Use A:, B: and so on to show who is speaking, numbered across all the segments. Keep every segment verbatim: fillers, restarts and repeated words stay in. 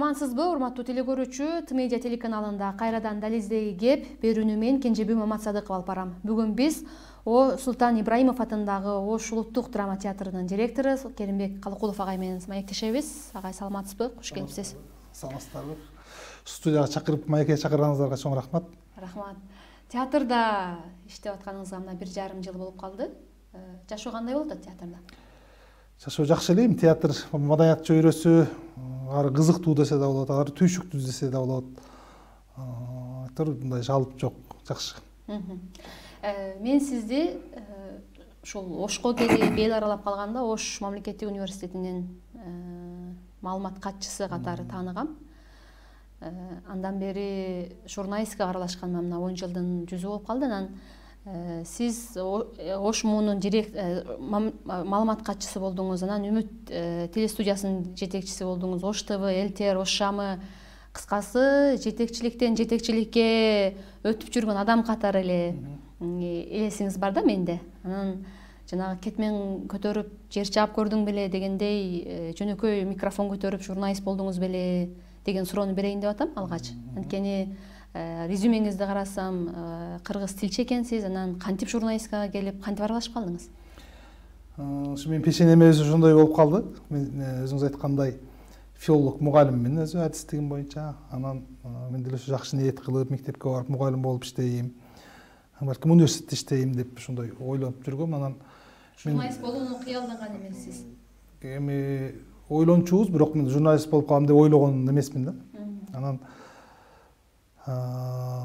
A: Саламатсызбы, урматтуу теле көрүүчү? Т-медиа телеканалында кайрадан дализдеги кеп берүүнү мен Кенжебүй Маматсадыков алып барам. Бүгүн биз О Султан Ибраимов атындагы Ош улуттук драма театрынын директору Керимбек Калыкулов агай менен маектешебиз. Агай, саламатсызбы? Кош келипсиз.
B: Саламатсыздарбы? Студияга чакырып, маекке чакырганыңыздарга чоң рахмат.
A: Рахмат. Театрда иштеп атканыңызга мына бир жарым жыл болуп калды. Жашоо кандай болуп атат театрда?
B: Жашоо жакшы элем. Театр маданият чөйрөсү, ары кызыктуу десе да болот, ары түйшүктүү десе да болот. Айтор мындай жалып жок, жакшы.
A: Мен сизди ушул Ошко келип эл аралап калганда Ош мамлекеттик университетинин маалымат катчысы катары тааныгам. Андан бери журналистикага аралашканыма мына он жылдын жүзү болуп калды. Анан сиз Ош муунун маалымат катчысы болдуңуз, анан Үмүт телестудиясынын жетекчиси болдуңуз, Ош ТВ, Элтер, Ош Шамы, кыскасы жетекчиликтен жетекчиликке өтүп жүргөн адам катары эле элесиңиз бар да менде. Анан жанагы кетмен көтөрүп жер чаап көрдүң беле дегендей жөнөкөй микрофон көтөрүп журналист болдуңуз беле деген суроону берейин деп атам алгач. Анткени резюмеңизди карасам, кыргыз тилчи экенсиз, анан кантип журналистикага келип, кантип аралашып калдыңыз?
B: Ушу менин пешенеме өзү ошондой болуп калды. Мен өзүңүз айткандай филолог мугалиммин өзү адистигим боюнча. Анан мен деле ошо жакшы ниет кылып мектепке барып мугалим болуп иштейм. Балким университетте иштейм деп ошондой ойлонуп жүргөм. Анан
A: журналист болууну кыялданган эмессиз?
B: Эми ойлончубуз, бирок мен журналист болуп калам деп ойлогон эмесмин да. Анан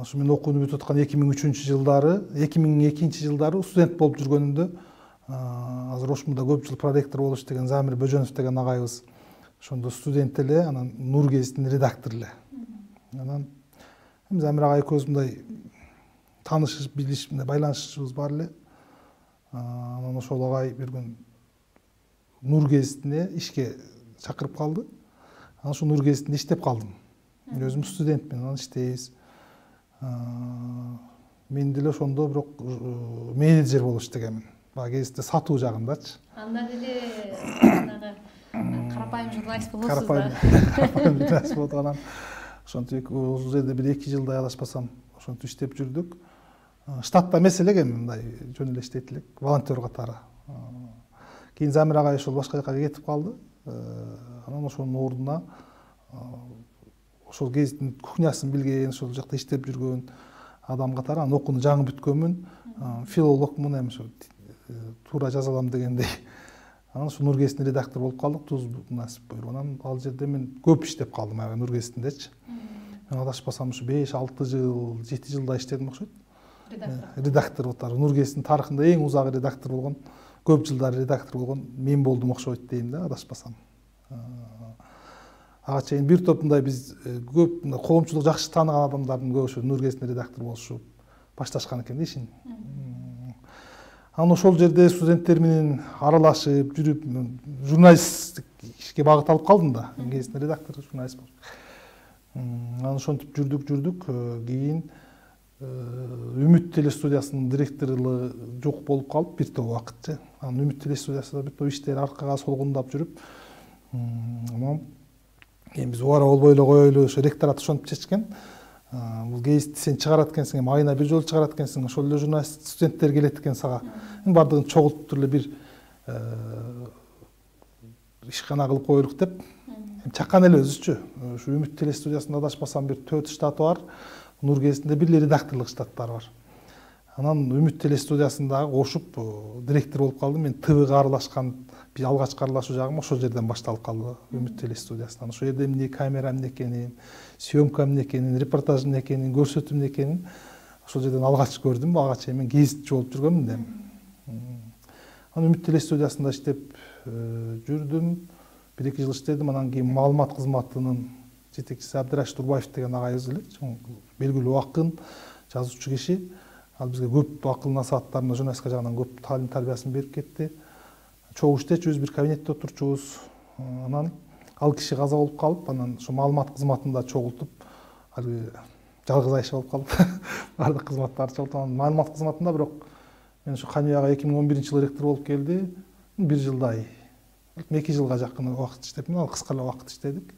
B: ошо мен окууну бүтүп аткан эки миң үчүнчү жылдары, эки миң экинчи жылдары студент болуп жүргөнүмдө азыр Ошмуда көп жыл проректор болуп иштеген Замир Бөжөнов деген агайыбыз ошондо студент эле, анан Нур гезитинин редактору эле. Анан Замир агай экөөбүз мындай таанышып, билиш, мындай байланышыбыз бар эле. Анан ошол агай бир күн Нур гезитине ишке чакырып калды. Анан ошо Нур гезитинде иштеп калдым. Өзүм студентмин, анан иштейбиз. Мен деле ошондо бирок менеджер болуп иштегенмин. Баягы гезитте сатуу жагындачы.
A: Анда деле жанагы карапайым журналист болосуз да.
B: Карапайым журналист болуп анан ошентип ошол жерде бир эки жылдай адаспасам ошентип иштеп жүрдүк. Штатта эмес элек, эми мындай жөн эле иштейт элек, волонтер катары. Кийин Замир агай ошол башка жака кетип калды. Анан ошонун ордуна ошол гезиттин кухнясын билген, ошол жакта иштеп жүргөн адам катары, анан окууну жаңы бүткөнмүн, филологмун, эми ошо туура жаза алам дегендей. Анан ошо Нур гезитинин редактору болуп калдык, туз насип буюруп. Анан ал жерде мен көп иштеп калдым, аябай Нур гезитиндечи. Мен адашпасам ушу беш алты жыл, жети жылдай иштедим окшойт. Редактор отары. Нур гезитинин тарыхында эң узак редактор болгон, көп жылдар редактор болгон мен болдум окшойт дейм да, адашпасам. Ага чейин бир топ мындай биз көп коомчулук жакшы тааныган адамдардын көбү ошо Нур гезитинде редактор болушуп башташкан экен да ишин. Анан ошол жерде студенттер менен аралашып жүрүп журналисттик ишке багыт алып калдым да. Гезиттин редактору, журналист болуп. Анан ошентип жүрдүк, жүрдүк. Кийин Үмүт телестудиясынын директорлугу жок болуп калып бир топ убакытчы. Анан Үмүт телестудиясында бир топ иштер аркага солгундап жүрүп, анан эми биз убара болбой эле коелу, ошо ректорат ошентип чечкен. Бул гезитти сен чыгарат экенсиң, эми айына бир жолу чыгарат экенсиң, ошол эле журналист студенттер келет экен сага. Бардыгын чогултуп эле бир ишкана кылып коелук деп чаккан эле өзүчү. Ушу Үмүт телестудиясында адашпасам бир төрт штаты бар. Нур гезитинде бир эле редакторлук штаттары бар. Анан Үмүт телестудиясындагы кошуп директор болуп калдым. Мен ТВга аралашкан, бир алгачкы аралашуу жагым ошол жерден башталып калды, Үмүт телестудиясынан. Ошол жерде эмне камера эмне экенин, съемка эмне экенин, репортаж эмне экенин, көрсөтүү эмне экенин ошол жерден алгач көрдүм. Ага чейин мен гезитчи болуп жүргөмүн да. Анан Үмүт телестудиясында иштеп жүрдүм. бир эки жыл иштедим. Анан кийин маалымат кызматынын жетекчиси Абдырашид Турбаев деген агайыбыз эле, белгилүү акын, жазуучу киши. Ал бизге көп акыл насааттарын, журналистика жагынан көп таалим тарбиясын берип кетти. Чогуу иштечүбүз, бир кабинетте отурчубуз. Анан ал киши каза болуп калып, анан ошо маалымат кызматында чогултуп, алгы жалгыз айша болуп калып, бардык кызматтарды чогултуп, анан маалымат кызматында бирок мен ошо Каныбек эки миң он биринчи жылы ректор болуп келди. бир жылдай, эки жылга жакын убакыт иштептим, ал кыска эле убакыт иштедик.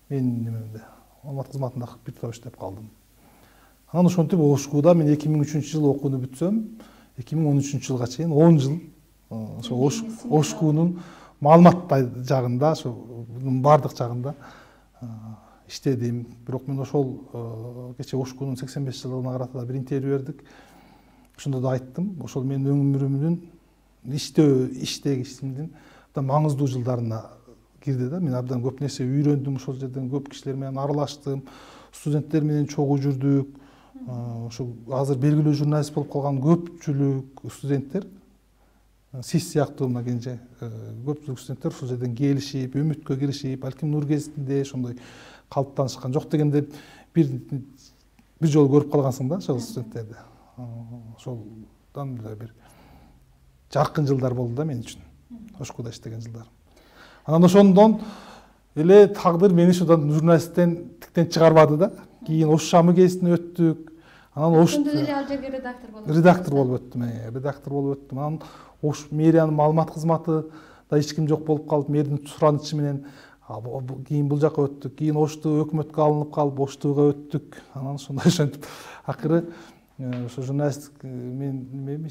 B: менин немемде маалымат кызматында бир топ иштеп калдым. Анан ошентип Ошкуда мен эки миң үчүнчү жылы окууну бүтсөм, эки миң он үчүнчү жылга чейин он жыл ошо Ошкунун маалымат жагында, ошо бардык жагында иштедим. Бирок мен ошол кече Ошкунун сексен беш жылдыгына карата бир интервью бердик. Ошондо да айттым, ошол менин өмүрүмдүн иштөө, иштеги ишимдин маңыздуу жылдарына кирди да. Мен абдан көп нерсе үйрөндүм, ошол жерден көп кишилер менен аралаштым, студенттер менен чогуу жүрдүк. Ошо азыр белгилүү журналист болуп калган көпчүлүк студенттер, сиз сыяктуу мына кенже көпчүлүк студенттер ушул жерден келишип, үмүткө киришип, балким Нур гезитинде ошондой калыптанышкан. Жок дегенде бир бир жолу көрүп калгансың да ошол студенттерди. Ошолдон бир жаркын жылдар болду да мен үчүн, Ошкуда иштеген жылдар. Анан ошондон эле тагдыр мени ушудан журналисттен тиктен чыгарбады да. Кийин Ош Шамы гезитине өттүк. Анан Ош
A: ал жерге редактор болуп
B: редактор болуп өттүм, редактор болуп өттүм. Анан Ош мэриянын маалымат кызматы да эч ким жок болуп калып, мэрдин суранычы менен кийин бул жака өттүк. Кийин Ошту өкмөткө алынып калып, Оштууга өттүк. Анан ошондой ошентип акыры ошо журналисттик мен немем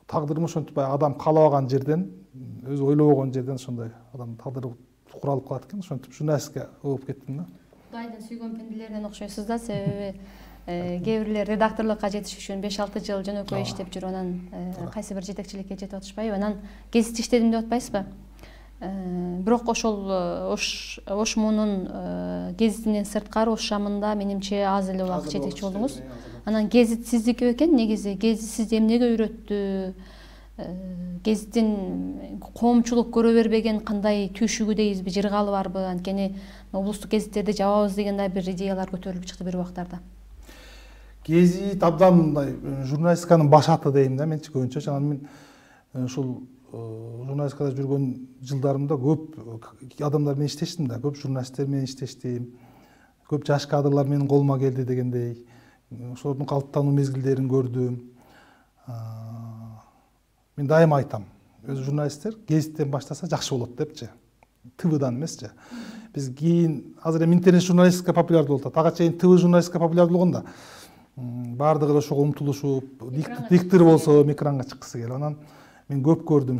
B: тагдырым ошентип адам каалабаган жерден, өзү ойлобогон жерден ошондой адам тагдыры куралып калат экен. Ошентип журналистке болуп кеттим да.
A: Кудайдын сүйгөн пенделеринен окшойсуз да, себеби кээ бирлер редакторлукка жетиш үчүн беш алты жыл жөнөкөй иштеп жүрүп, анан кайсы бир жетекчиликке жетип атышпайбы, анан гезитте иштедим деп атпайсызбы? Бирок ошол Ошмунун гезитинен сырткары Ош Шамында менимче аз эле убакыт жетекчи болдуңуз. Анан гезит сиздики бекен, негизи гезит сизди эмнеге үйрөттү? Гезиттин коомчулук көрө бербеген кандай түйшүгү дейбизби, жыргалы барбы? Анткени облустук гезиттерди жабабыз деген да бир идеялар көтөрүлүп чыкты бир убактарда.
B: Гезит абдан мындай журналистиканын баш аты дейм да менчи көбүнчө. Анан мен ушул журналистикада жүргөн жылдарымда көп адамдар менен иштештим да, көп журналисттер менен иштештим. Көп жаш кадрлар менин колума келди дегендей. Ошолордун калыптануу мезгилдерин көрдүм. Мен дайыма айтам, өз журналисттер гезиттен баштаса жакшы болот депчи. ТВдан эмесчи. Биз кийин азыр эми интернет журналистика популярдуу болуп атат. Ага чейин ТВ журналистика популярдуу болгондо баардыгы да ошого умтулушуп, диктор болсо экранга чыккысы келип. Анан мен көп көрдүм.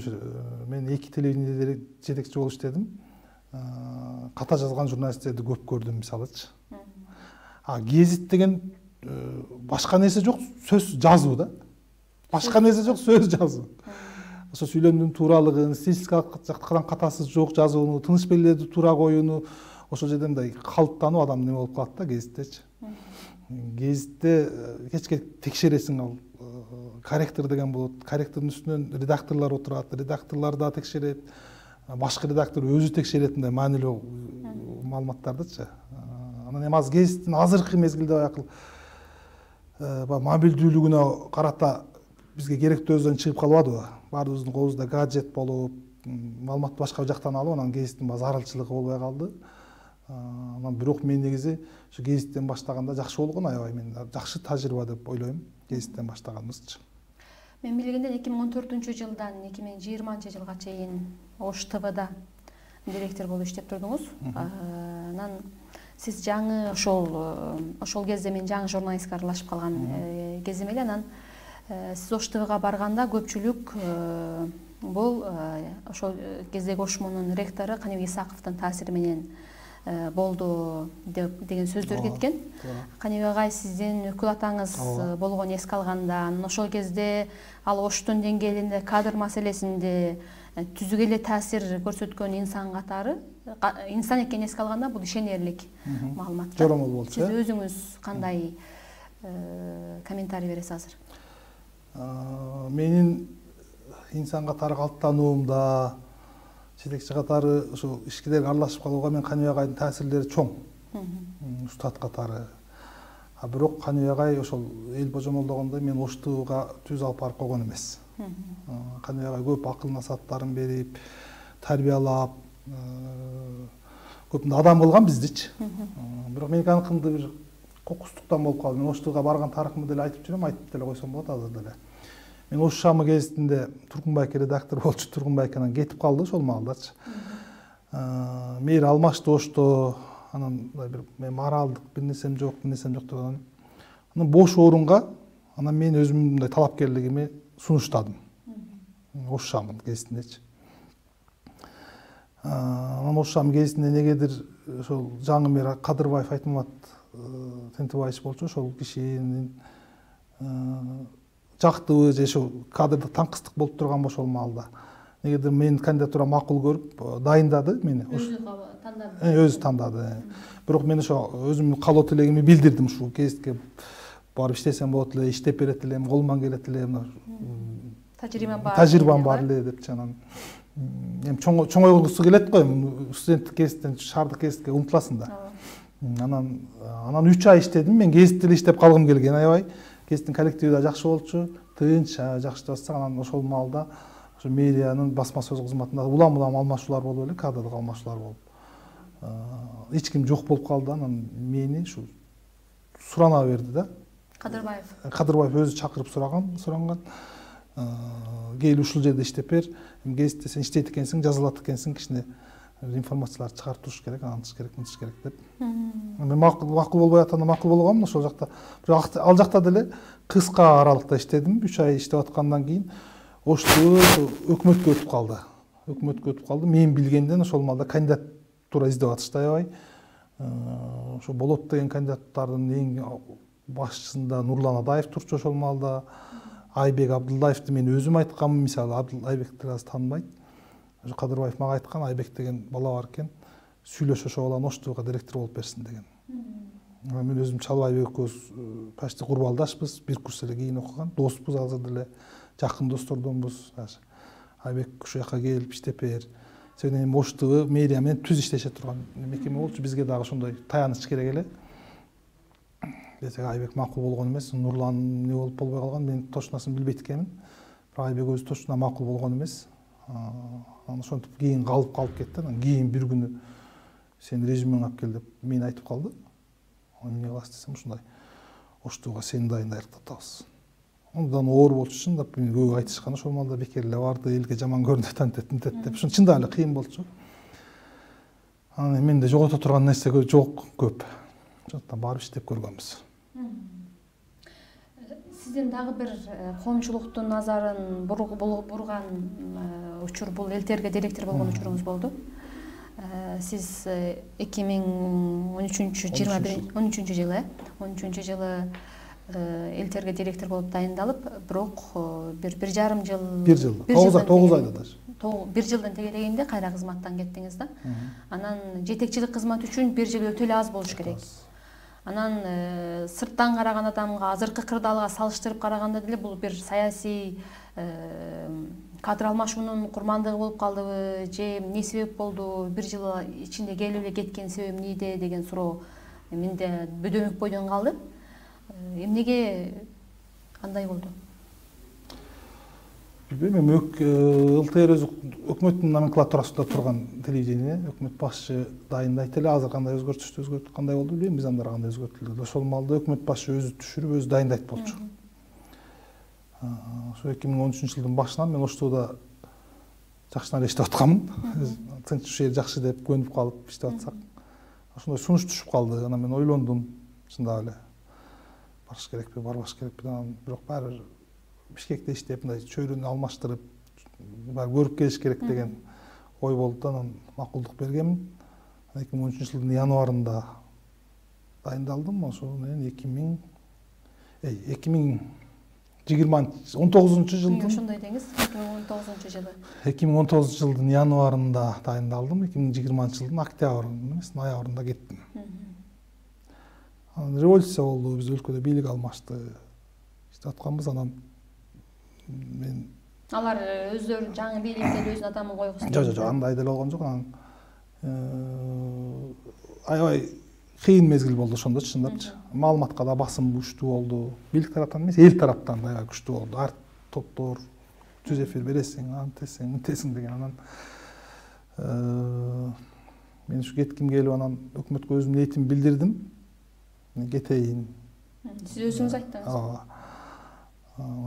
B: Мен эки телевидениеде жетекчи болуп иштедим. Ката жазган журналисттерди көп көрдүм мисалычы. А гезит деген башка нерсе жок, сөз жазуу да. Башка нерсе жок, сөз жазуу. Ошо сүйлөмдүн тууралыгын, стилистикалык жактан катасыз жок жазууну, тыныч белгилерди туура коюуну, ошол жерден мындай калыптануу адам неме болуп калат да гезиттечи. Гезитте кечке текшересиң, ал корректор деген болот. Корректордун үстүнөн редакторлор отурат, редакторлор да текшерет, башкы редактор өзү текшерет мындай маанилүү маалыматтардычы. Анан эми азыр гезиттин азыркы мезгилде баягы мобилдүүлүгүнө карата бизге керектүү өзүнөн чыгып калбадыбы? Баарыбыздын колубузда гаджет болуп, маалыматты башка жактан алып, анан гезиттин зарылчылыгы болбой калды. Анан бирок мен негизи ушу гезиттен баштаганда жакшы болгон, аябай мен жакшы тажрыйба деп ойлойм, гезиттен баштаганыбызчы.
A: Мен билгенден эки миң он төртүнчү жылдан эки миң жыйырманчы жылга чейин Ош ТВда директор болуп иштеп турдуңуз. Анан сиз жаңы ошол ошол кезде мен жаңы журналистке аралашып калган кезим эле. Анан сиз Ош ТВга барганда көпчүлүк бул ошол кездеги Ошмунун ректору Каныбек Исаковдун таасири менен болду деген сөздөр кеткен. Каныбек агай сиздин өкүл атаңыз болгон эске алганда, ошол кезде ал Оштун деңгээлинде, кадр маселесинде түзүк эле таасир көрсөткөн инсан катары, инсан экенин эске алганда бул ишенерлик маалымат.
B: Жоромол болчу.
A: Сиз өзүңүз кандай комментарий бересиз азыр?
B: Менин инсан катары калыптануумда, жетекчи катары ошо ишкилерге аралашып калууга мен Каныбек агайдын таасирлери чоң. Устат катары. А бирок Каныбек агай ошол эл божомолдогондой мен Ош ТВга түз алып барып койгон эмес. Каныбек агай көп акыл насааттарын берип, тарбиялап, көп адам болгон биздичи. Бирок меники аныкында бир кокустуктан болуп калды. Мен Ош ТВга барган тарыхымды деле айтып жүрөм, айтып деле койсом болот азыр деле. Мен Ош Шамы гезитинде Тургунбайке редактор болчу, Тургунбайке анан кетип калды ошол маалдачы. мээри алмашты ошто, анан бир мен моралдык бир нерсем жок, бир нерсем жок деп анан анан бош орунга анан мен өзүмдүн мындай талапкерлигими сунуштадым. Ошшамын кезиндечи. Анан ошшам кезинде негедир ошол Жаңымер Кадырбаев Айтмамат Тентебаевич болчу, ошол кишинин жактыбы же ошо кадрдык таңкыстык болуп турганбы ошол маалда. Негедир менин кандидатура макул көрүп дайындады мени.
A: Өзү тандады.
B: Өзү тандады. Бирок мен ошо өзүмдүн каалоо тилегими билдирдим ушул кезитке барып иштесем болот эле, иштеп берет элем, колуман келет эле,
A: тажрыйбам бар.
B: Тажрыйбам бар эле депчи анан эми чоңойгусу келет го, эми студенттик кезиттен шаардык кезитке умтуласың да. Анан анан үч ай иштедим. Мен кезитте эле иштеп калгым келген, аябай. Кезиттин коллективи да жакшы болчу, тынч, жакшы деп атсак, анан ошол маалда ошо мэриянын басма сөз кызматында улам-улам алмашуулар болуп эле, кадрлык алмашуулар болуп. Эч ким жок болуп калды. Анан мени ушу сурана берди да.
A: Кадырбаев.
B: Кадырбаев өзү чакырып сураган, суранган. Кел ушул жерде иштеп бер. Кезитте сен иштейт экенсиң, жазылат экенсиң, кичине информацияларды чыгарып туруш керек, антыш керек, мынтыш керек деп. Мен макул макул болбой атканда макул болгонмун ошол жакта. Бирок ал жакта деле кыска аралыкта иштедим. үч ай иштеп аткандан кийин Ошту өкмөткө өтүп калды. Өкмөткө өтүп калды. Мен билгенден ошол маалда кандидатура издеп атышты аябай. Ошо болот деген кандидаттардын эң башчысында Нурлан Адаев турчу ошол маалда. Айбек Абдуллаевди мен өзүм айтканмын, мисалы Айбекти аз тааныбайт. Ошо Кадырбаев мага айткан, Айбек деген бала бар экен, сүйлөш ошо баланы Оштууга директор болуп берсин деген. Мен өзүм Чалбай Айбек экөөбүз почти курбалдашпыз, бир курс эле кийин окуган, доспуз, азыр деле жакын достордонбуз. Айбек ушул жака келип иштеп бер. Себеби эми Оштуу мэрия менен түз иштеше турган мекеме болчу, бизге дагы ошондой таяныч керек эле. Десек Айбек макул болгон эмес, Нурлан эмне болуп болбой калган, мен точносын билбейт экенмин. Бирок Айбек өзү точно макул болгон эмес. Анан ошентип кийин калып калып кетти. Анан кийин бир күнү сен резюмең алып кел деп мени айтып калды. Эмне кыласыз десем, ушундай Оштууга сени дайындайбыз деп атабыз. Ондан оор болчу, чындап мен көп айтышкан, ошол маалда бекер эле барды, элге жаман көрүнөт, антет, антет деп. Ушун чындап эле кыйын болчу. Анан менде жогото турган нерсе жок көп. Ошондуктан барып иштеп көргөнбүз.
A: Сиздин дагы бир коомчулуктун назарын бурган учур бул Элтерге директор болгон учуруңуз болду. Сиз эки миң он үчүнчү жыйырма бир он үчүнчү жылы он үчүнчү жылы Элтерге директор болуп дайындалып, бирок бир бир жарым жыл
B: бир жыл тогуз айда даже
A: бир жылдын тегерегинде кайра кызматтан кеттиңиз да. Анан жетекчилик кызмат үчүн бир жыл өтө эле аз болуш керек. Анан сырттан караган адамга, азыркы кырдаалга салыштырып караганда деле бул бир саясий кадр алмашуунун курмандыгы болуп калдыбы, же эмне себеп болду, бир жыл ичинде келип эле кеткен себеби эмнеде деген суроо менде бөдөмөк бойдон калды. Эмнеге кандай болду?
B: Билбейм, эми ЛТР өзү өкмөттүн номенклатурасында турган телевидение, өкмөт башчы дайындайт эле, азыр кандай өзгөртүштү өзгөртүп кандай болду билбейм, биз андара кандай өзгөртүлдү. Ошол маалда өкмөт башчы өзү түшүрүп, өзү дайындайт болчу. Ошо эки миң он үчүнчү жылдын башынан мен Оштууда жакшынан эле иштеп атканмын. Тынч ушул жер жакшы деп көнүп калып иштеп атсак, ошондой сунуш түшүп калды. Анан мен ойлондум, чындап эле барыш керекпи, барбаш керекпи, анан бирок баары Бишкекте иштеп, мындай чөйрөнү алмаштырып, баары көрүп келиш керек деген ой болду. Анан макулдук бергенмин. эки миң он үчүнчү жылдын январында дайындалдым. Ошол менен эки миң эки миң жыйырма он тогузунчу жылдын
A: ошондой деңиз, эки миң он тогузунчу жылы.
B: эки миң он тогузунчу жылдын январында дайындалдым. эки миң жыйырманчы жылдын октябрында эмес, ноябрында кеттим. Анан революция болду, биз өлкөдө бийлик алмашты. Иштеп атканбыз, анан мен
A: алар өздөрү жаңы бийликте өзүнүн адамын койгусу.
B: Жок, жок, андай деле болгон жок. Анан аябай кыйын мезгил болду ошондо, чындапчы. Маалыматка да басым күчтүү болду. Бийлик тараптан эмес, эл тараптан аябай күчтүү болду. Ар топтор түз эфир бересиң, антесиң, мынтесиң деген. Анан мен ушу кетким келип, анан өкмөткө өзүмдүн ниетимди билдирдим. Мен кетейин.
A: Сиз өзүңүз айттыңыз.
B: Ооба.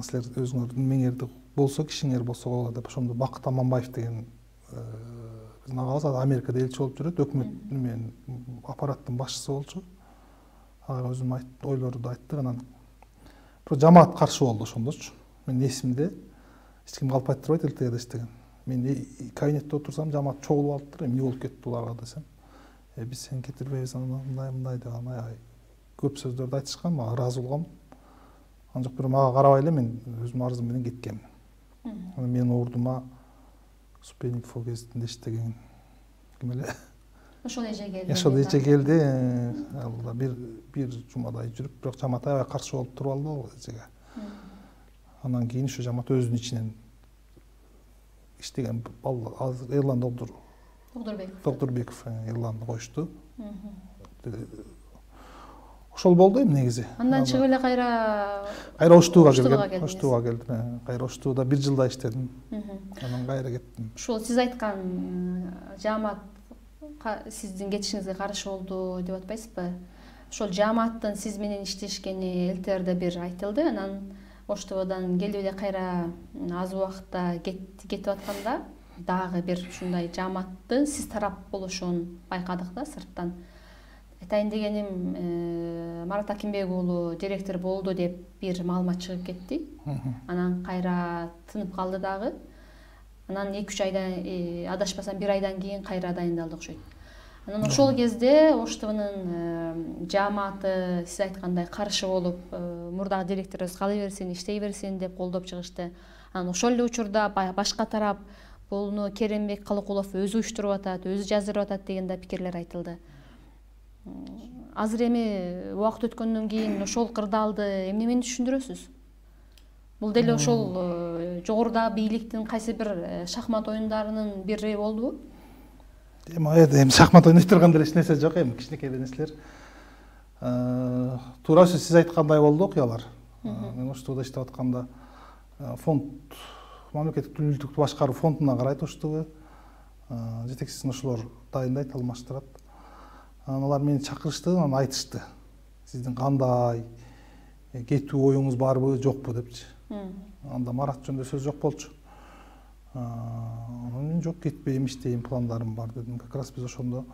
B: Силер өзүңөр меңерди болсо, кишиңер болсо болот деп ошондо Бакыт Аманбаев деген биздин агабыз Америкада элчи болуп жүрөт, өкмөт менен аппараттын башчысы болчу. Ага өзүнүн ойлорду айтты, анан бирок жамаат каршы болду ошондочу. Мен эсимде эч ким калп айтырбайт ЛТГде иштеген. Мен кабинетте отурсам жамаат чогулуп алыптыр, эмне болуп кетти буларга десем. Э биз сени кетирбейбиз, мындай мындай деп анай көп сөздөрдү айтышкан, мага ыраазы болгом. Анан жок, бирок мага карабай эле мен өзүмдүн арызым менен кеткем. Анан менин ордума Супенников кезинде иштеген ким эле
A: ошол эже келди.
B: Ошол эже келди. Ал бир бир жумадай жүрүп, бирок жамаат аябай каршы болуп туруп алды ал эжеге. Анан кийин ушу жамаат өзүнүн ичинен иштеген азыр Эрлан Докторбеков. Докторбеков Эрланды коюшту. Ошол болду эми негизи.
A: Андан чыгып эле кайра
B: кайра Оштууга келдим. Оштууга келдим. Кайра Оштууда бир жылдай иштедим. Анан кайра кеттим.
A: Ушул сиз айткан жамаат сиздин кетишиңизге каршы болду деп атпайсызбы? Ошол жамааттын сиз менен иштешкени ЛТРде бир айтылды. Анан Оштуудан келип эле кайра аз убакытта кетип атканда дагы бир ушундай жамааттын сиз тарап болушун байкадык да сырттан. Айтайын дегеним, Марат Акимбек уулу директор болду деп бир маалымат чыгып кетти. Анан кайра тынып калды дагы. Анан эки үч айдан, адашпасам бир айдан кийин кайра дайындалды окшойт. Анан ошол кезде Оштуунун жааматы сиз айткандай каршы болуп, мурдагы директорубуз кала берсин, иштей берсин деп колдоп чыгышты. Анан ошол эле учурда башка тарап буну Керенбек Калыкулов өзү уюштуруп атат, өзү жаздырып атат деген да пикирлер айтылды. Азыр эми убакыт өткөндөн кийин ошол кырдаалды эмне менен түшүндүрөсүз? Бул деле ошол жогоруда бийликтин кайсы бир шахмат оюндарынын бири болдубу?
B: Эми эми шахмат ойной турган деле эч нерсе жок, эми кичинекей нерселер. Туура сиз айткандай болду окуялар. Мен Оштууда иштеп атканда фонд, мамлекеттик тилдүүлүктү башкаруу фондуна карайт Оштуу. Жетекчисин ошолор дайындайт, алмаштырат. Алар мени чакырышты, анан айтышты. Сиздин кандай кетүү оюңуз барбы, жокпу депчи. Анда Марат жөнүндө сөз жок болчу. Мен жок, кетпейм, иштейм, пландарым бар дедим. Как раз биз ошондо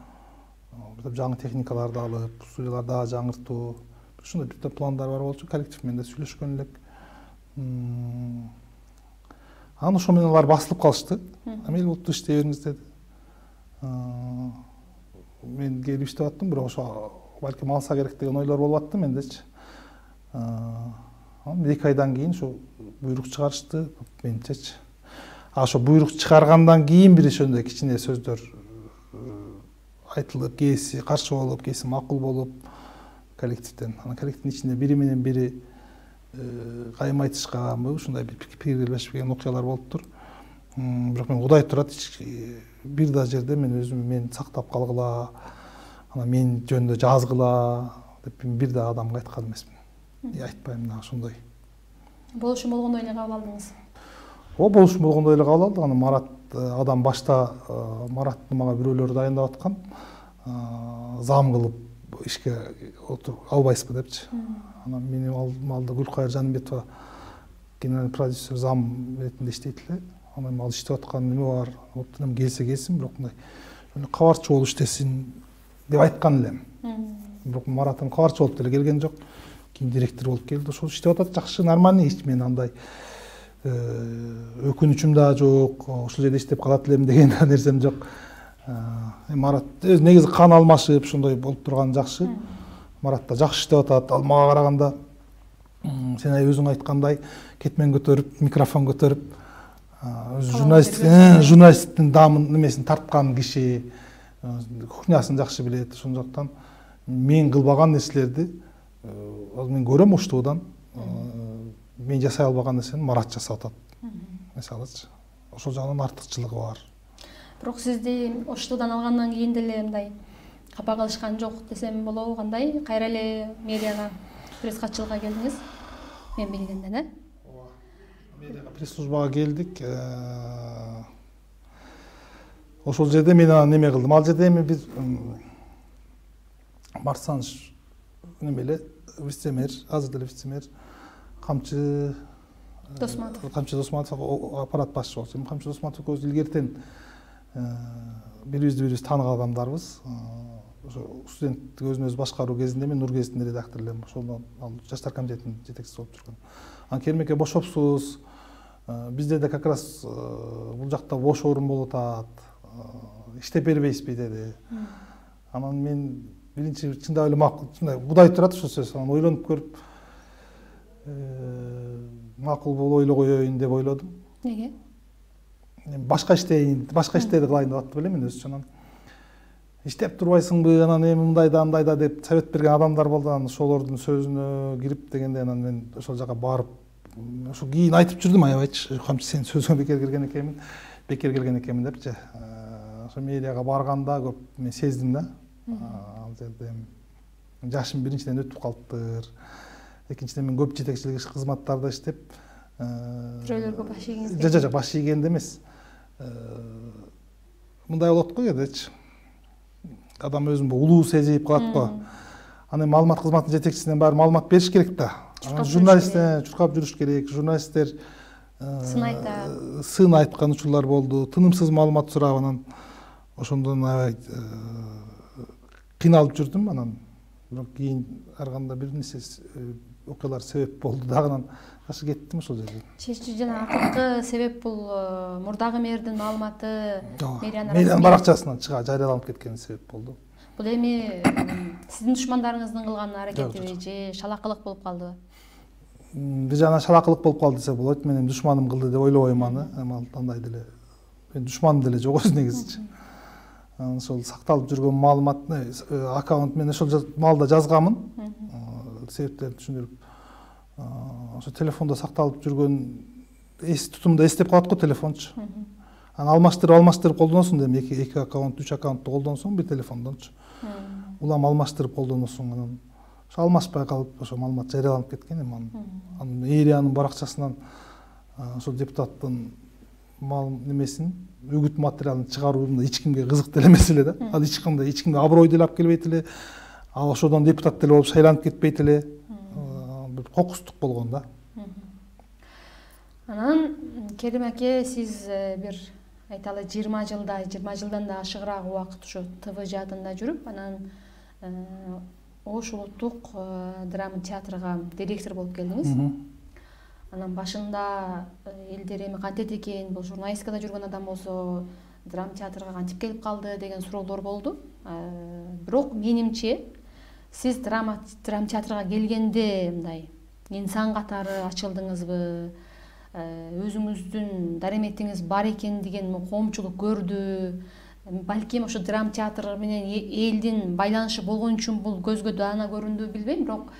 B: жаңы техникаларды алып, студияларды дагы жаңыртуу, ушундай бир топ пландар бар болчу. Коллектив менен да сүйлөшкөн элек. Анан ошо менен алар басылып калышты. Мейли болупту, иштей бериңиз деди. Мен келип иштеп аттым, бирок ошо балким алса керек деген ойлор болуп атты мендечи. Анан эки айдан кийин ошо буйрук чыгарышты менчечи. А ошо буйрук чыгаргандан кийин бир ошондой кичине сөздөр айтылып, кээси каршы болуп, кээси макул болуп коллективден. Анан коллективдин ичинде бири менен бири кайым айтышканбы, ушундай бир пикир билбешпеген окуялар болуптур. Бирок мен Кудай турат, бир да жерде мен өзүм мен сактап калгыла, анан мен жөнүндө жазгыла деп бир да адамга айткан эмесмин. Айтпайм да ошондой.
A: Болушун болгондой эле кабыл алдыңыз.
B: О, болушун болгондой эле кабыл алдык. Анан Марат адам башта Маратты мага бирөөлөр дайындап аткан, зам кылып ишке албайсызбы депчи. Анан мени алдымалда Гүлкайыр Жанымбетова генеральный продюсер зам ретинде иштейт эле. Анан ал иштеп аткан неме бар, оптунан келсе келсин, бирок мындай кабарчы болуп иштесин деп айткан элем. Бирок Мараттын кабарчы болуп деле келген жок. Кийин директор болуп келди. Ошол иштеп атат, жакшы, нормальный иш. Мен андай өкүнүчүм да жок, ошол жерде иштеп калат элем деген нерсем жок. Марат өз негизи кан алмашып ошондой болуп турган жакшы. Марат да жакшы иштеп атат. Ал мага караганда сен өзүң айткандай кетмен көтөрүп, микрофон көтөрүп, журналисттин журналисттин дамын немесин тарткан киши, кухнясын жакшы билет. Ошондуктан мен кылбаган нерселерди мен көрөм Оштуудан. Мен жасай албаган нерсени Марат жасап атат. Мисалычы, ошол жагынан артыкчылыгы бар.
A: Бирок сизди Оштуудан алгандан кийин деле мындай капа кылышкан жок десем болобу, кандай? Кайра эле медиага, пресс-катчылыкка келдиңиз. Мен билгенден, э?
B: Медиага, пресс-службага келдик. Ошол жерде мен анан неме кылдым. Ал жерде эми биз Марсаныч неме эле вице-мэр, азыр деле вице-мэр Камчы Досматов. Камчы Досматов аппарат башчы болчу. Камчы Досматов көз илгертен бирибизди бирибиз тааныган адамдарбыз. Ошо студенттик өзүн өзү башкаруу кезинде мен Нургезиттин редактору элем. Ошондон ал жаштар комитетинин жетекчиси болуп жүргөн. Анан Кермеке бошопсуз. Бизде да как раз бул жакта бош орун болуп атат. Иштеп бербейсизби деди. Анан мен биринчи чындап эле макул, чындай будай турат ошол сөз. Анан ойлонуп көрүп макул болуп ойлой коеюн деп ойлодум.
A: Неге?
B: Башка иштейин, башка иштерди кылайын деп аттып элем мен өзүчө. Анан иштеп турбайсыңбы, анан эми мындай да мындай да деп совет берген адамдар болду. Анан ошолордун сөзүнө кирип дегенде анан мен ошол жака барып, ошо кийин айтып жүрдүм аябайчы. Камчы сен сөзүңө бекер келген экенмин, бекер келген экенмин депчи. Ошо мэрияга барганда көп мен сездим да. Ал жерде жашым биринчиден өтүп калыптыр. Экинчиден мен көп жетекчилик кызматтарда иштеп,
A: бирөөлөргө баш ийгиңиз?
B: Жок, жок, баш ийгенде эмес. Мындай болот го кээдечи. Адам өзүн улуу сезип калат го. Анан маалымат кызматынын жетекчисинен баары маалымат бериш керек да. Журналисттер чуркап жүрүш керек. Журналисттер
A: сын айтат.
B: Сын айткан учурлар болду. Тынымсыз маалымат сурап, анан ошондон аябай кыйналып жүрдүм. Анан бирок кийин ар кандай бир нерсе окуялар себеп болду. Дагынан ташы кеттим ошол жерден.
A: Чечүү жана акыркы себеп бул мурдагы мэрдин маалыматы
B: мэриянын баракчасынан чыга жарыяланып кеткен себеп болду.
A: Бул эми сиздин душмандарыңыздын кылган аракетиби же шалакылык болуп калдыбы?
B: Бир жана шалакылык болуп калды десе болот. Мен эми душманым кылды деп ойлобойм аны. Эми ал андай деле мен душманым деле жок өзү негизичи. Анан ошол сакталып жүргөн маалыматны аккаунт мен ошол маалда жазганмын. Себептерин түшүндүрүп. Ошо телефондо сакталып жүргөн эс тутумда эстеп калат го телефончу. Анан алмаштырып алмаштырып колдоносуң да, эки эки аккаунт, үч аккаунтту колдонсоң бир телефондончу. Улам алмаштырып колдоносуң. Анан ошо алмашпай калып ошо маалымат жарыяланып кеткен эми анын мэриянын баракчасынан ошол депутаттын мал немесин, үгүт материалын чыгаруу эч кимге кызык деле эмес эле да. Ал эч кандай эч кимге аброй деле алып келбейт эле. Ал ошодон депутат деле болуп шайланып кетпейт эле. Бир кокустук болгон да.
A: Анан Керим аке, сиз бир айталы жыйырма жылда, жыйырма жылдан да ашыгыраак убакыт ошо Т В жаатында жүрүп, анан Ош улуттук драма театрга директор болуп келдиңиз. Анан башында элдер эми кантет экен, бул журналистикада жүргөн адам болсо драма театрга кантип келип калды деген суроолор болду. Бирок менимче сиз драма драма театрга келгенде мындай инсан катары ачылдыңызбы? Өзүңүздүн дареметиңиз бар экен деген коомчулук көрдү? Балким ошо драма театр менен элдин байланышы болгон үчүн бул көзгө даана көрүндү билбейм, бирок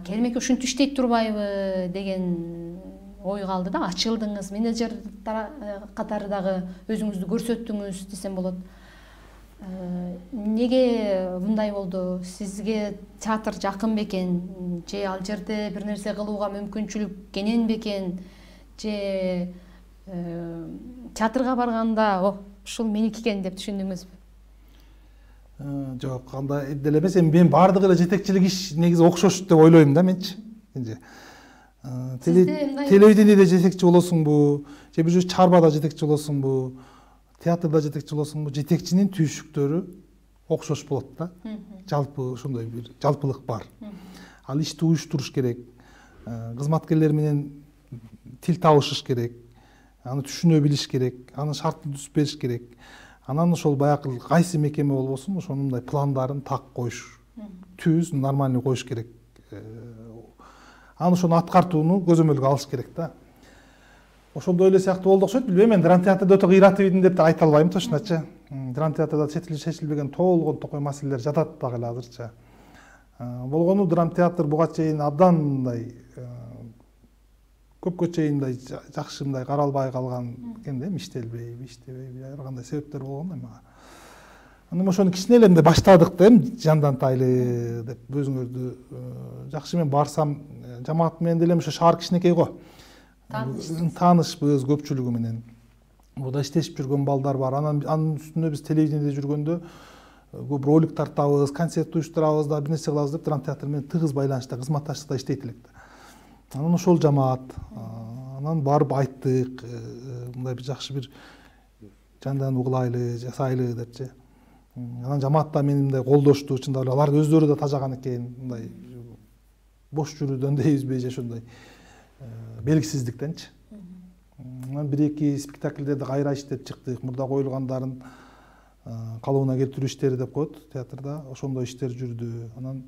A: Керим аке ушинтип иштейт турбайбы деген ой калды да. Ачылдыңыз, менеджер катары дагы өзүңүздү көрсөттүңүз десем болот. Неге мындай болду? Сизге театр жакын бекен, же ал жерде бир нерсе кылууга мүмкүнчүлүк кенен бекен, же театрга барганда ушул меники экен деп түшүндүңүзбү?
B: Жок, андай деле эмес. Эми мен баардыгы эле жетекчилик иш негизи окшош деп ойлойм да менчи. Телевидениеде жетекчи болосуңбу, же бир чарбада жетекчи болосуңбу, театрда жетекчи болосуңбу, жетекчинин түйшүктөрү окшош болот да. Жалпы ошондой бир жалпылык бар. Ал ишти уюштуруш керек, кызматкерлер менен тил табышыш керек, аны түшүнө билиш керек, анын шартын түзүп бериш керек. Анан ошол баягы кайсы мекеме болбосун, ошонун мындай пландарын так коюш, түз, нормальный коюш керек. Аны ошону аткартууну көзөмөлгө алыш керек да. Ошондой эле сыяктуу болду окшойт. Билбейм, мен драма театрда өтө кыйратып идим деп да айта албайм точночу. Драма театрда чечилип чечилбеген толгон токой маселелер жатат дагы эле азырча. Болгону драма театр буга чейин абдан мындай көпкө чейин мындай жакшы мындай каралбай калган экен да, иштелбей, иштебей, ар кандай себептер болгон эми. Анан ошону кичине эле мындай баштадык да, эми жандантайлы деп өзүңөрдү жакшы мен барсам, жамаат менен деле ошо шаар кичинекей го. Таанышпыз көпчүлүгү менен. Буда иштешип жүргөн балдар бар. Анан анын үстүнө биз телевидениеде жүргөндө көп ролик тартабыз, концерт уюштурабыз да, бир нерсе кылабыз деп драма театр менен тыгыз байланышта, кызматташтыкта иштейт элек да. Анан ошол жамаат, анан барып айттык, мындай бир жакшы бир жандандыруу кылайлы, жасайлы депчи. Анан жамаат да мени мындай колдошту, чындап эле алар өздөрү да тажаган экен, мындай бош жүрүүдөн дейбизби же ошондой белгисиздиктенчи. Анан бир эки спектакльдерди кайра иштеп чыктык. Мурда коюлгандарын калыбына келтирүү иштери деп коет театрда. Ошондой иштер жүрдү. Анан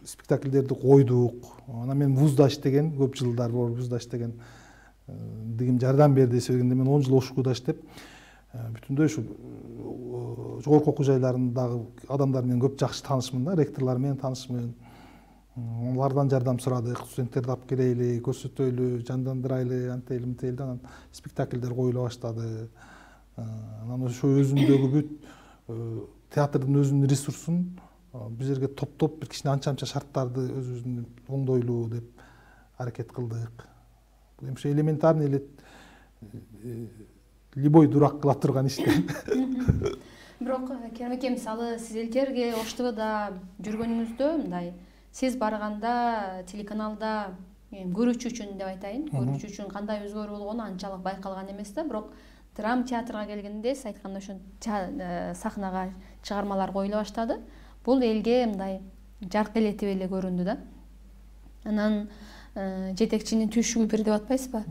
B: спектакльдерди койдук. Анан мен вузда иштеген, көп жылдар вузда иштеген дигим жардам берди. Себебинде мен он жыл ошкуда иштеп, бүтүндөй ушу жогорку окуу жайларындагы адамдар менен көп жакшы таанышмын да, ректорлор менен таанышмын. Алардан жардам сурадык, студенттерди алып келели, көрсөтөлү, жандандырайлы, антели мынтели. Анан спектакльдер коюла баштады. Анан ошо өзүндөгү бүт театрдын өзүнүн ресурсун биз жерге топтоп бир кичине анча-анча шарттарды өзүбүздүн оңдойлуу деп аракет кылдык. Бул эми элементарный эле любой дурак кыла турган иште.
A: Бирок Керим эке, мисалы сиз элтерге Ош ТВда жүргөнүңүздө мындай сиз барганда телеканалда көрүүчү үчүн деп айтайын, көрүүчү үчүн кандай өзгөрүү болгону анчалык байкалган эмес да, бирок драм театрга келгенде сиз айткандай ошо сахнага чыгармалар коюла баштады. Бул элге мындай жарк элетип эле көрүндү да. Анан жетекчинин түйшүгү бир деп атпайсызбы?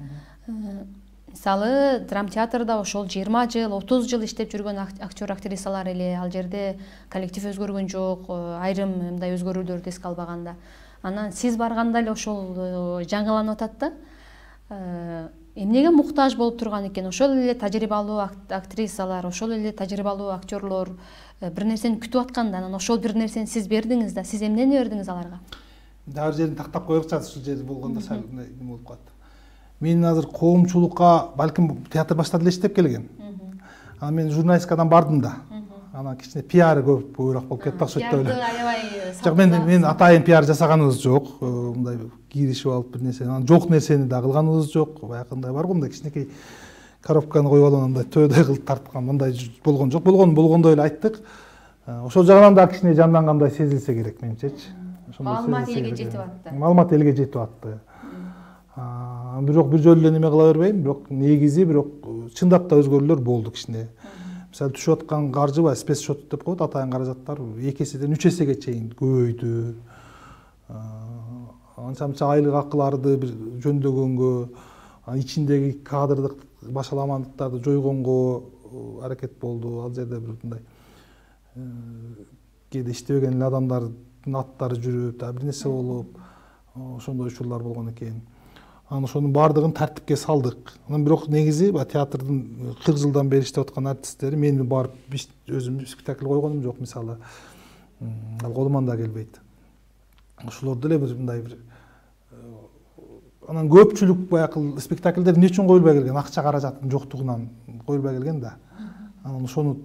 A: Мисалы драм театрда ошол жыйырма жыл, отуз жыл иштеп жүргөн актер актрисалар эле, ал жерде коллектив өзгөргөн жок, айрым мындай өзгөрүүлөрдү эске албаганда. Анан сиз барганда эле ошол жаңыланып атат да. Эмнеге муктаж болуп турган экен? Ошол эле тажрыйбалуу актрисалар, ошол эле тажрыйбалуу актерлор бир нерсени күтүп атканда, анан ошол бир нерсени сиз бердиңиз да, сиз эмнени бердиңиз аларга?
B: Дагы жерин тактап коелукчу, ушул жери болгондо сал эме болуп калат. Мен азыр коомчулукка балким театр баштап эле иштеп келген. Анан мен журналисткадан бардым да. Анан кичине пиар көбүрөөк болуп кетти окшойт да эле. Жок, мен мен атайын пиар жасаганыбыз жок. Мындай киришип алып бир нерсе, анан жок нерсени да кылганыбыз жок. Баягындай бар го, мындай кичинекей коробканы коюп алып андай төөдөй кылып тарткан, мындай болгон жок. Болгон болгондой эле айттык. Ошол жагынан да кичине жандангандай сезилсе керек менимчечи.
A: Маалымат элге жетип атты.
B: Маалымат элге жетип атты. Бирок бир жолу эле неме кыла бербейм, бирок негизи бирок чындап да өзгөрүүлөр болду кичине. Мисалы түшүп аткан каржы бар, спец счет деп коет, атайын каражаттар эки эседен үч эсеге чейин көбөйдү. Анча-мынча айлык акыларды бир жөндөгөнгө, ичиндеги кадрдык башаламандыктарды жойгонго аракет болду. Ал жерде бир мындай кээде иштебеген эле адамдардын аттары жүрүп, бир нерсе болуп, ошондой учурлар болгон экен. Анан ошонун баардыгын тартипке салдык. Анан бирок негизи театрдын кырк жылдан бери иштеп аткан артисттери мен барып өзүм спектакль койгонум жок, мисалы. Ал колуман да келбейт. Ошолорду эле бир мындай бир анан көпчүлүк баягы спектакльдер эмне үчүн коюлбай келген? Акча каражаттын жоктугунан коюлбай келген да. Анан ошону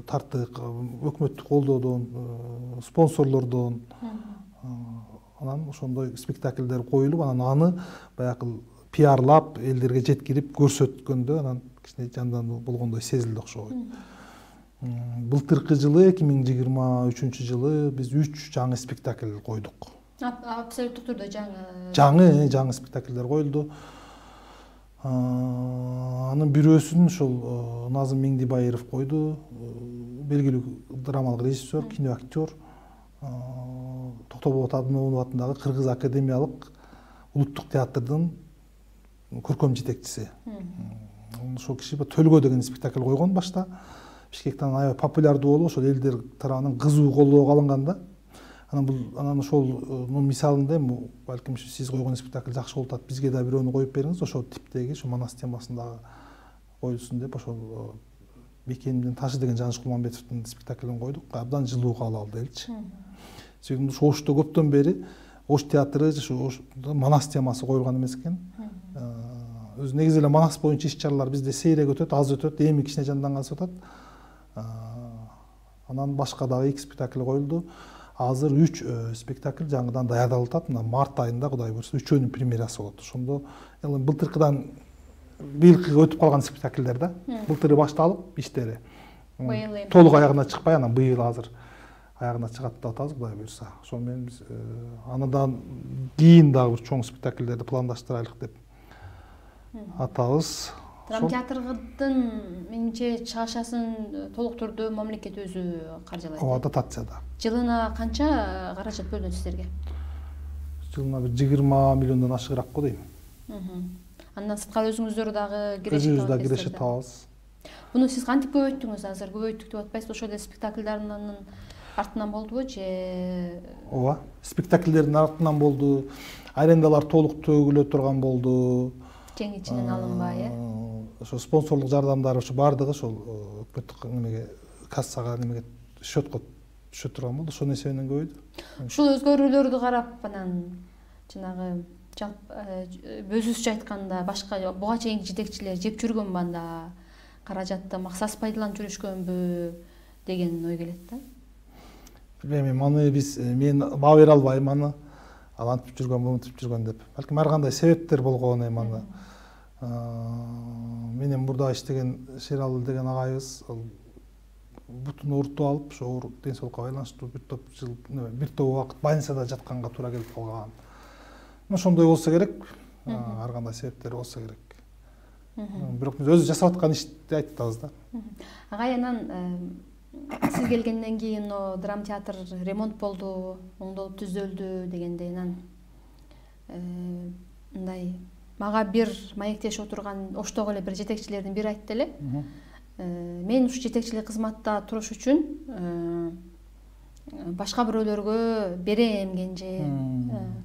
B: тарттык, өкмөттүк колдоодон, спонсорлордон. Анан ошондой спектакльдер коюлуп, анан аны баягы пиарлап, элдерге жеткирип көрсөткөндө анан кичине жандандуу болгондой сезилди окшойт. Былтыркы жылы эки миң жыйырма үчүнчү жылы биз үч жаңы спектакль койдук.
A: Абсолюттук түрдө жаңы.
B: Жаңы, жаңы спектакльдер коюлду. Анын бирөөсүн ошол Назым Меңдибаев койду. Белгилүү драмалык режиссер, киноактер. Токтоболот Абдымомунов атындагы Кыргыз академиялык улуттук театрдын көркөм жетекчиси. Ошол киши Төлгө деген спектакль койгон башта. Бишкектен аябай популярдуу болуп, ошол элдер тарабынан кызуу колдоого алынган да. Анан бул анан ошолдун мисалында балким сиз койгон спектакль жакшы болуп атат, бизге да бирөөнү коюп бериңиз, ошол типтеги, ошо Манас темасындагы коюлсун деп ошол Бекемдин Ташы деген Жаныш Кулманбетовдун спектаклин койдук. Абдан жылуу кабыл алды элчи. Себеби ошо Ошто көптөн бери Ош театры ошо Манас темасы коюлган эмес экен. Өзү негизи эле Манас боюнча иш-чаралар бизде сейрек өтөт, аз өтөт, эми кичине жанданган атат. Анан башка дагы эки спектакль коюлду. Азыр үч спектакль жаңыдан даярдалып атат. Мына март айында Кудай буйрса үчөөнүн премьерасы болот. Ошондо былтыркыдан быйылкыга өтүп калган спектакльдер да. Былтыры башталып иштери. Толук аягына чыкпай, анан быйыл азыр аягына чыгат деп атабыз, Кудай буйрса. Ошол менен биз андан кийин дагы бир чоң спектакльдерди пландаштырайлык деп атабыз.
A: Драма театрдын менимче чыгашасын толук түрдө мамлекет өзү каржылайт.
B: Ооба, дотацияда.
A: Жылына канча каражат бөлүнөт сиздерге?
B: Жылына бир жыйырма миллиондон ашыгыраак го дейм.
A: Андан сырткары өзүңүздөр дагы кирешет
B: Өзүбүз дагы кирешет табабыз.
A: Буну сиз кантип көбөйттүңүз? Азыр көбөйттүк деп атпайсыз, ошол эле спектакльдардын артынан болдубу же?
B: Ооба, спектакльдердин артынан болду. Арендалар толук төгүлө турган болду.
A: Тең ичинен алынбай, э?
B: Ошо спонсорлук жардамдар ошо бардыгы ошол өкмөттүк немеге, кассага немеге, счетко түшө турган болду. Ошонун эсебинен көбөйдү.
A: Ушул өзгөрүүлөрдү карап анан жанагы өзүбүзчө айтканда башка буга чейинки жетекчилер жеп жүргөнбү анда, каражатты максатсыз пайдаланып жүрүшкөнбү деген ой келет да.
B: Билбейм, аны биз мен баа бере албайм аны. Ал антип жүргөн, мынтип жүргөн деп. Балким ар кандай себептер болгон эми аны. Менен мурда иштеген Шералы деген агайыбыз бутун оорутуп алып, ошо ден соолукка байланыштуу бир топ жыл, бир топ убакыт больницада жатканга туура келип калган. Ошондой болсо керек, ар кандай себептер болсо керек. Бирок биз өзү жасап аткан ишти айтып атабыз да.
A: Агай, анан сиз келгенден кийин драма театр ремонт болду, оңдолуп түзөлдү дегендей, анан мындай мага бир маектешип отурган оштогу эле бир жетекчилердин бири айтты эле. Мен ушу жетекчилик кызматта туруш үчүн башка бирөөлөргө берем кенже,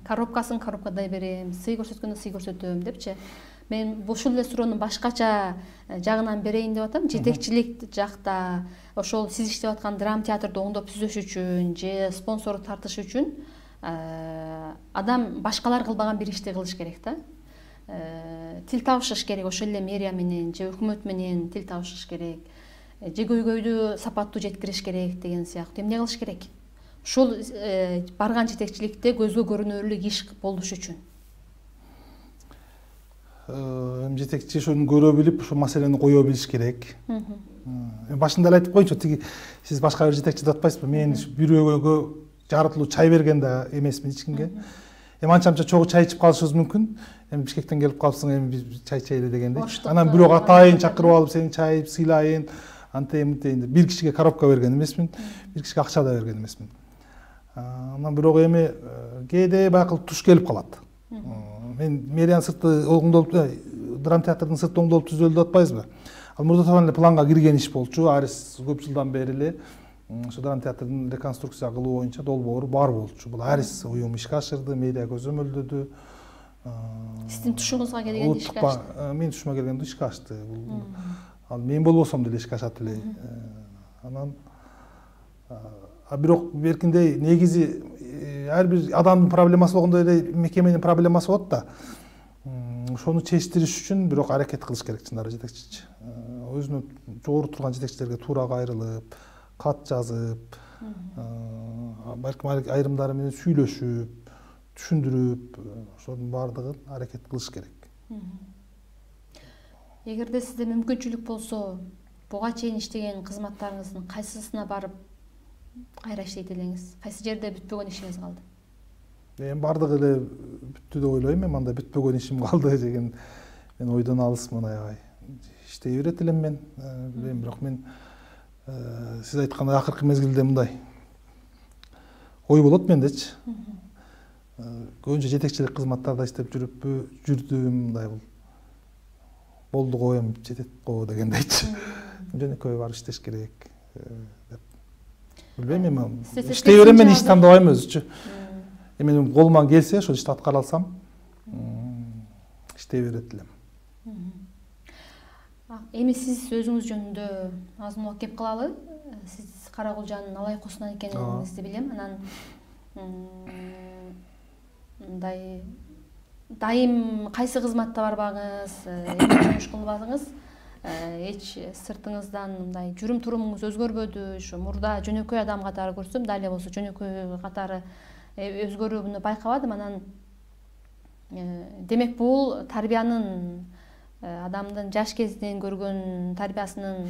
A: коробкасын коробкадай берем, сый көрсөткөндө сый көрсөтөм депчи. Мен ушул эле суроону башкача жагынан берейин деп атам. Жетекчилик жакта ошол сиз иштеп аткан драма театрды оңдоп түзөш үчүн же спонсор тартыш үчүн адам башкалар кылбаган бир ишти кылыш керек да. Тил табышыш керек, ошол эле мэрия менен же өкмөт менен тил табышыш керек, же көйгөйдү сапаттуу жеткириш керек деген сыяктуу. Эмне кылыш керек? Ушул барган жетекчиликте көзгө көрүнөрлүк иш болуш үчүн.
B: Жетекчи ошону көрө билип, ошол маселени кое билиш керек. Башында эле айтып коеюнчу, тиги сиз башка бир жетекчи деп атпайсызбы? Мен бирөөгө жарытылуу чай берген да эмесмин эч кимге. Эми анча-мынча чогуу чай ичип калышыбыз мүмкүн. Эми Бишкектен келип калыпсың, эми биз чай ичели дегендей. Анан бирок атайын чакырып алып, сени чай сыйлайын, антейин мынтейин деп бир кишиге коробка берген эмесмин, бир кишиге акча да берген эмесмин. Анан бирок эми кээде байкы туш келип калат. Мен мэриянын сырты оңдолуп, драма театрдын сырты оңдолуп түзөлдү деп атпайсызбы? Ал мурда табан эле планга кирген иш болчу, арис көп жылдан бери эле ошо драма театрдын реконструкция кылуу боюнча долбоору бар болчу. Бул арис уюм ишке ашырды, мэрия көзөмөлдөдү.
A: Сиздин тушуңузга келгенде ишке ашты?
B: Менин тушума келгенде ишке ашты. Ал мен болбосом деле ишке ашат эле. Анан бирок беркиндей негизи ар бир адамдын проблемасы болгондой эле мекеменин проблемасы болот да. Ошону чечтириш үчүн бирок аракет кылыш керек чындап жетекчичи. Өзүнө жогору турган жетекчилерге туура кайрылып, кат жазып, балким айрымдары менен сүйлөшүп, түшүндүрүп, ошонун баардыгын аракет кылыш керек.
A: Эгерде сизде мүмкүнчүлүк болсо, буга чейин иштеген кызматтарыңыздын кайсысына барып кайра иштейт элеңиз? Кайсы жерде бүтпөгөн ишиңиз калды?
B: Мен баардыгы эле бүттү деп ойлойм. Мен анда бүтпөгөн ишим калды деген мен ойдон алысмын аябай. Иштей берет элем мен. Билбейм, бирок мен сиз айткандай акыркы мезгилде мындай ой болот мендечи. Көбүнчө жетекчилик кызматтарда иштеп жүрүппү, жүрдүм, мындай бул болду го, эми жетет го дегендейчи. Жөнөкөй барып иштеш керек деп. Билбейм, эми иштей берем, мен иш тандабайм өзүчү. Эми менин колуман келсе, ошол ишти аткара алсам, иштей берет элем.
A: Эми сиз өзүңүз жөнүндө аз мулак кеп кылалы. Сиз Каракулжанын алайкосунан экениңизди билем. Анан мындай дайым кайсы кызматта барбаңыз, эмне жумуш кылбадыңыз, эч сыртыңыздан мындай жүрүм турумуңуз өзгөрбөдү? Ошо мурда жөнөкөй адам катары көрсөм, дале болсо жөнөкөй катары өзгөрүүнү байкабадым. Анан демек бул тарбиянын, адамдын жаш кезинен көргөн тарбиясынын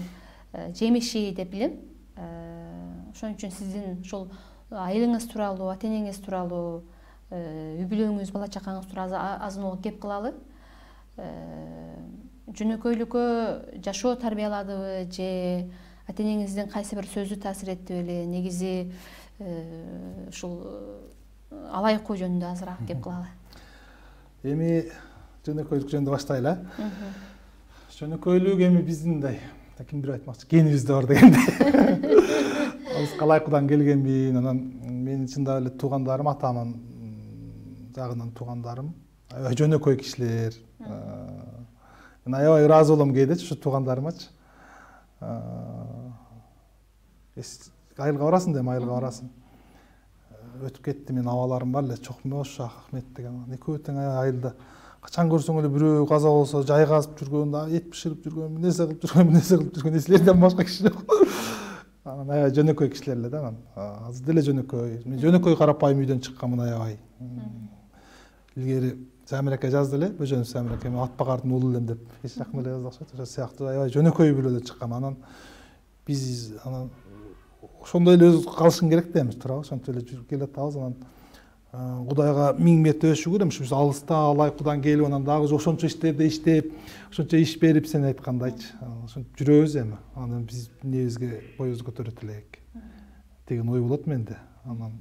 A: жемиши деп билем. Ошон үчүн сиздин ошол айылыңыз тууралуу, ата энеңиз тууралуу, үй бүлөңүз, бала чакаңыз тууралуу аз мулак кеп кылалы. жөнөкөйлүккө жашоо тарбияладыбы же ата энеңиздин кайсы бир сөзү таасир этти беле? Негизи ушул алайкуу жөнүндө азыраак кеп кылалы.
B: Эми жөнөкөйлүк жөнүндө баштайлы. Жөнөкөйлүк эми биздин мындай ким бир айтмакчы, генибизде бар дегенде. Биз калайкудан келгенбин, анан менин чындап эле туугандарым, атамын жагынан туугандарым аябай жөнөкөй кишилер. Мен аябай ыраазы болом кээде ушу туугандарымачы. Айылга барасың дейм, айылга барасың. Өтүп кетти, менин абаларым бар эле, Чокмош Ахмет деген. Экөө тең айылда. Качан көрсөң эле бирөө каза болсо, жай казып жүргөн, эт биширип жүргөн, нерсе кылып жүргөн, нерсе кылып жүргөн, эсилерден башка киши жок. Анан аябай жөнөкөй кишилер эле да анан. Азыр деле жөнөкөй. Мен жөнөкөй карапайым үйдөн чыкканмын аябай. Илгери Самир ака жазды эле, Бөжөнов Самир ака, мен Атбагардын уулу элем деп, эч жакын эле жазды окшойт. Ошол сыяктуу аябай жөнөкөй бирөөдөн чыккан. Анан биз анан ошондой эле өз калышың керек да, эми туурабы? Ошентип эле жүрүп келатабыз. Анан Кудайга миң мәртебе шүгүр, эми биз алыста алайкудан келип, анан дагы ошончо иштерди иштеп, ошончо иш берип, сен айткандайчы. Ошентип жүрөбүз эми. Анан биз эмнебизге боюбузду көтөрөт элек деген ой болот менде. Анан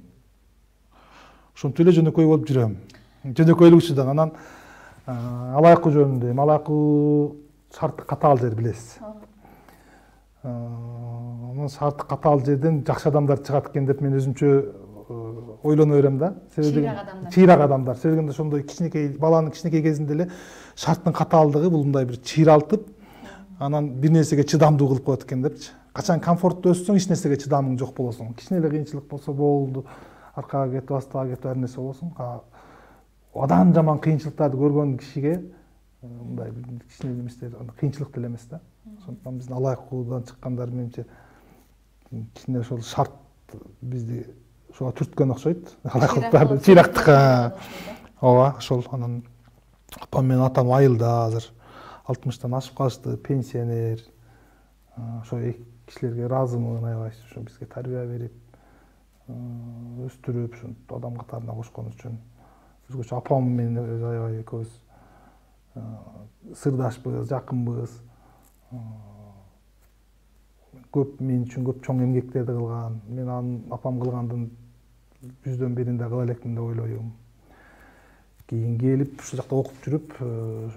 B: ошентип эле жөнөкөй болуп жүрөм. Жөнөкөйлүк үчүн анан алайкуу жөнүндө, алайкуу шарты катаал жер билесиз. Анан шарты катаал жерден жакшы адамдар чыгат экен деп мен өзүмчө ойлоно берем да. Чыйрак адамдар. Себебинде ошондой кичинекей баланын кичинекей кезинде эле шарттын катаалдыгы бул мындай бир чыйралтып, анан бир нерсеге чыдамдуу кылып коет экен депчи. Качан комфортто өссөң, эч нерсеге чыдамың жок болосуң. Кичине эле кыйынчылык болсо болду, аркага кетип, астага кетип, ар нерсе болосуң. Адан жаман кыйынчылыктарды көргөн кишиге мындай кичине эместер, кыйынчылык деле эмес да. Ошондуктан биздин алайкуудан чыккандар менимче кичине ошол шарт бизди ошого түрткөн окшойт. Алайкуулуктарды, чыйрактыкка. Ооба, ошол. Анан апам менен атам айылда азыр алтымыштан ашып калышты, пенсионер. Ошо эки кишилерге ыраазымын аябай, ошо бизге тарбия берип, өстүрүп, ушинтип адам катарына кошкон үчүн. Өзгөчө апам менен аябай экөөбүз сырдашпыз, жакынбыз. Көп мен үчүн көп чоң эмгектерди кылган. Мен анын апам кылгандын жүздөн бирин да кыла элекмин деп ойлойм. Кийин келип ушул жакта окуп жүрүп,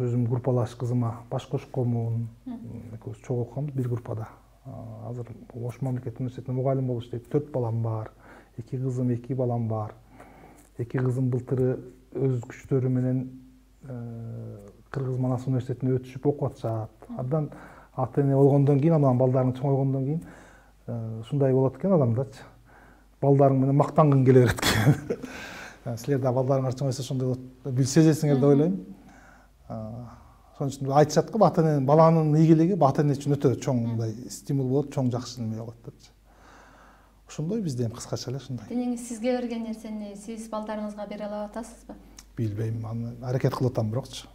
B: өзүм группалаш кызыма баш кошконмун. Экөөбүз чогуу окуганбыз бир группада. Азыр Ош мамлекеттик университетинде мугалим болуп иштейт. Төрт балам бар. Эки кызым, эки балам бар. Эки кызым былтыры өз күчтөрү менен Кыргыз Манас университетине өтүшүп окуп атышат. Абдан ата эне болгондон кийин, анан балдарың чоңойгондон кийин ушундай болот экен адамдачы. Балдарың менен мактангың келе берет экен. Силер да балдарыңар чоңойсо ошондой болот, бир сезесиңер деп ойлойм. Ошон үчүн айтышат го, ата эненин, баланын ийгилиги ата эне үчүн өтө чоң мындай стимул болот, чоң жакшы неме болот депчи. Ошондой бизде эми кыскача эле ушундай.
A: Денеңиз сизге берген нерсени сиз балдарыңызга бере алып атасызбы?
B: Билбейм, аны аракет кылып атам бирокчу.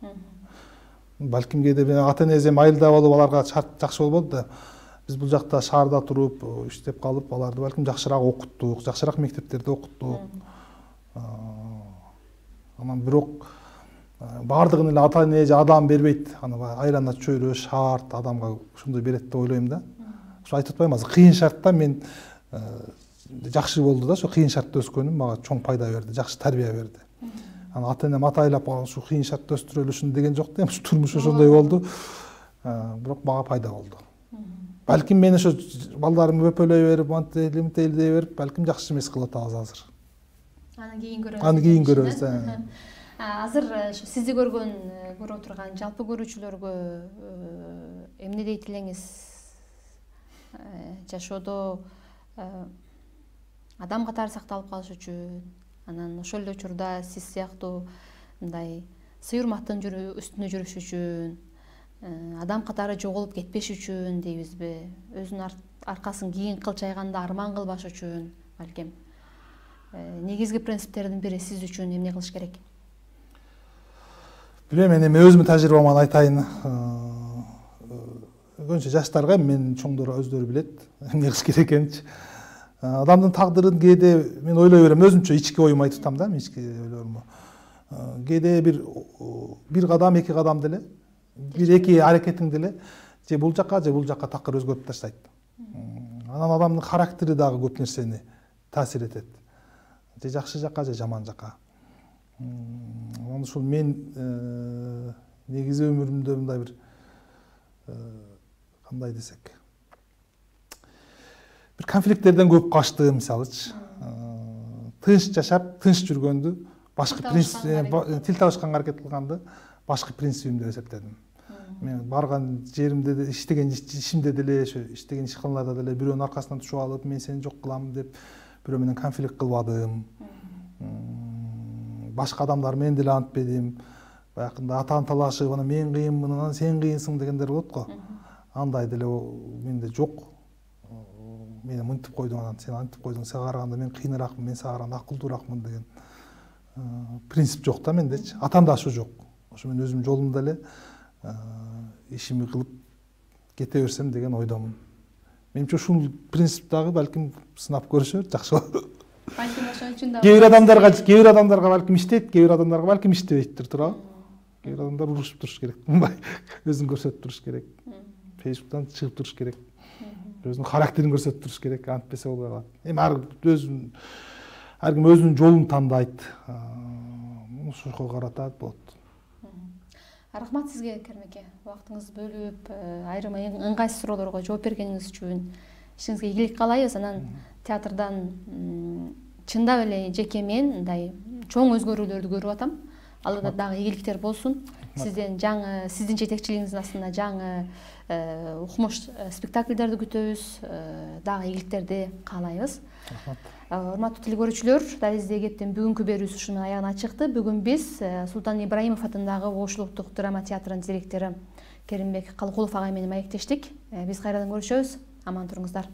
B: Балким кээде ата энеси эми айылда болуп аларга шарт жакшы болбоду да. Биз бул жакта шаарда туруп, иштеп калып, аларды балким жакшыраак окуттук, жакшыраак мектептерде окуттук. Анан бирок баардыгын эле ата эне же адам бербейт. Аны айлана чөйрө шарт адамга ушундой берет деп ойлойм да. Ошо айтып атпаймынбы, азыр кыйын шартта мен жакшы болду да, ошо кыйын шартта өскөнүм мага чоң пайда берди, жакшы тарбия берди. Аны ата энем атайлап ушу кыйын шартта өстүрөлү ушуну деген жок да, эми турмуш ошондой болду. Бирок мага пайда болду. Балким мен ошо балдарымды өпөлөй берип, антели ментели дей берип, балким жакшы эмес кылып атабыз азыр.
A: Аны кийин көрөбүз.
B: Аны кийин көрөбүз.
A: Азыр ошо сизди көргөн, көрүп турган жалпы көрүүчүлөргө эмне дейт элеңиз? Жашоодо адам катары сакталып калыш үчүн, анан ошол эле учурда сиз сыяктуу мындай сый-урматтын үстүнө жүрүш үчүн, адам катары жоголуп кетпеш үчүн дейбизби? Өзүнүн аркасын кийин кылчайганда арман кылбаш үчүн, балким негизги принциптердин бири сиз үчүн эмне кылыш керек?
B: Билем, мен эми өзүмдүн тажрыйбаман айтайын. Көбүнчө жаштарга, мен чоңдор өздөрү билет эмне кылыш керек экенинчи. Адамдын тагдырын кээде мен ойлой берем, өзүмчө ички оюм айтып атам да, ички ойлорумду. Кээде бир бир кадам, эки кадам деле бир эки аракетиңди эле же бул жака же бул жака такыр өзгөртүп таштайт. Анан адамдын характери дагы көп нерсени таасир этет. Же жакшы жака же жаман жака. Анан ушул мен негизи өмүрүмдө мындай бир кандай десек бир конфликттерден көп качтым, мисалычы. Тынч жашап, тынч жүргөндү, башкы принцип, тил табышканга аракет кылганды башкы принцибим деп эсептедим. Мен барган жеримде де, иштеген ишимде деле, ошо иштеген ишканаларда деле бирөөнүн аркасынан түшүп алып, мен сени жок кылам деп бирөө менен конфликт кылбадым. Башка адамдар менен деле антпедим. Баягында атаан талашып, анан мен кыйынмын, анан сен кыйынсың дегендер болот го. Андай деле менде жок. Мени мынтип койдуң, анан сен антип койдуң, сага караганда мен кыйыныраакмын, мен сага караганда акылдуураакмын деген принцип жок да мендечи. Атамда ошо жок. Ошо мен өзүмдүн жолумда эле ишими кылып кете берсем деген ойдомун. Менимче ушул принцип дагы балким сынап көрүшөр, жакшы болот.
A: Балким ошон үчүн да
B: кээ бир адамдарга, кээ бир адамдарга балким иштейт, кээ бир адамдарга балким иштебейттир, туурабы? Кээ бир адамдар урушуп туруш керек, мындай өзүн көрсөтүп туруш керек. Фейсбуктан чыгып туруш керек. Өзүнүн характерин көрсөтүп туруш керек, антпесе болбой калат. Эми ар өзүн ар ким өзүнүн жолун тандайт. Ошого карата болот.
A: Рахмат сизге, Керим эке. Убактыңызды бөлүп, айрым ыңгайсыз суроолорго жооп бергениңиз үчүн ишиңизге ийгилик каалайбыз. Анан театрдан чындап эле жеке мен мындай чоң өзгөрүүлөрдү көрүп атам. Алда дагы ийгиликтер болсун. Сизден жаңы, сиздин жетекчилигиңиздин астында жаңы укмуш спектакльдерди күтөбүз, дагы ийгиликтерди каалайбыз. Рахмат. Урматтуу телекөрүүчүлөр, Дализде кептин бүгүнкү берүүбүз ушуну менен аягына чыкты. Бүгүн биз Султан Ибраимов атындагы Ош улуттук драма театрынын директору Керимбек Калкулов агай менен маектештик. Биз кайрадан көрүшөбүз. Аман туруңуздар.